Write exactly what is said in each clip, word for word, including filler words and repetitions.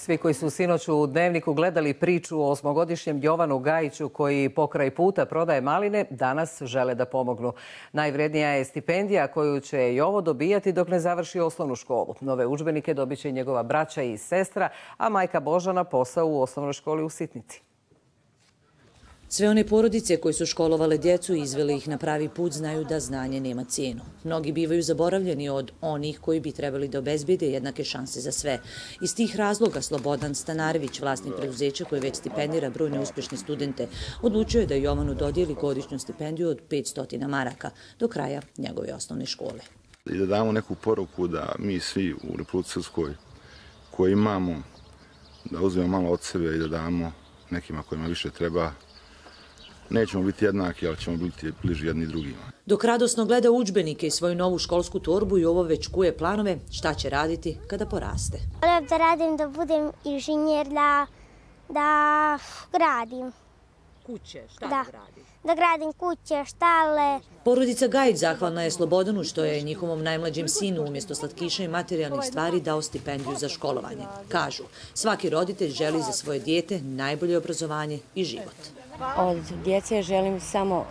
Svi koji su sinoć u Dnevniku gledali priču o osmogodišnjem Jovanu Gajiću koji pokraj puta prodaje maline, danas žele da pomognu. Najvrednija je stipendija koju će Jovo dobijati dok ne završi osnovnu školu. Nove udžbenike dobit će njegova braća i sestra, a majka Božana posao u osnovnoj školi u Sitnici. Sve one porodice koje su školovale djecu i izvele ih na pravi put znaju da znanje nema cijenu. Mnogi bivaju zaboravljeni od onih koji bi trebali da obezbede jednake šanse za sve. Iz tih razloga Slobodan Stanarević, vlasnik preduzeća koje već stipendira brojne uspješne studente, odlučio je da Jovanu dodijeli godišnju stipendiju od petsto maraka do kraja njegove osnovne škole. I da damo neku poruku da mi svi u Republici Srpskoj koji imamo, da uzmemo malo od sebe i da damo nekima kojima više treba. Nećemo biti jednaki, ali ćemo biti bliži jedni drugima. Dok radosno gleda udžbenike i svoju novu školsku torbu, Jovo već kuje planove šta će raditi kada poraste. Volim da radim, da budem inženjer, da, da gradim. Kuće, šta da gradiš? Da gradim kuće, štale. Porodica Gajić zahvalna je Slobodanu što je njihovom najmlađem sinu umjesto slatkiša i materijalnih stvari dao stipendiju za školovanje. Kažu, svaki roditelj želi za svoje dijete najbolje obrazovanje i život. Od djece želim samo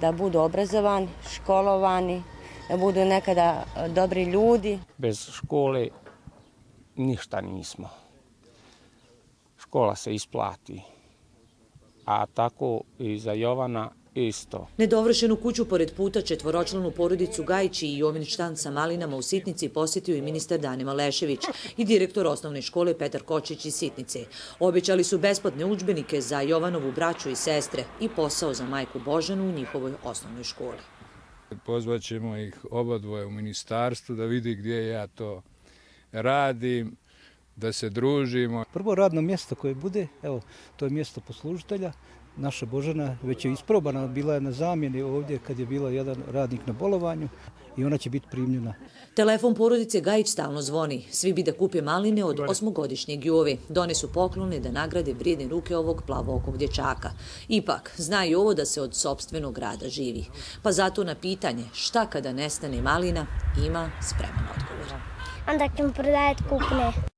da budu obrazovani, školovani, da budu nekada dobri ljudi. Bez škole ništa nismo. Škola se isplati, a tako i za Jovana isto. Nedovršenu kuću pored puta četvoročlanu porodicu Gajić i Jovin štan sa malinama u Sitnici posjetio i ministar Danima Lešević i direktor osnovne škole Petar Kočić iz Sitnice. Obećali su besplatne udžbenike za Jovanovu braću i sestre i posao za majku Božanu u njihovoj osnovnoj školi. Pozvaćemo ih obadvoje u ministarstvu da vidi gdje ja to radim, da se družimo. Prvo radno mjesto koje bude, evo, to je mjesto poslužitelja. Naša Božana već je isprobana, bila je na zamjeni ovdje kad je bila jedan radnik na bolovanju i ona će biti primljena. Telefon porodice Gajić stalno zvoni. Svi bi da kupe maline od osmogodišnjeg Jove. Donesu poklone da nagrade vrijedne ruke ovog plavookog dječaka. Ipak, zna i ovo da se od sopstvenog rada živi. Pa zato na pitanje šta kada nestane malina ima spreman odgovor. Onda ćemo prodajati kupne.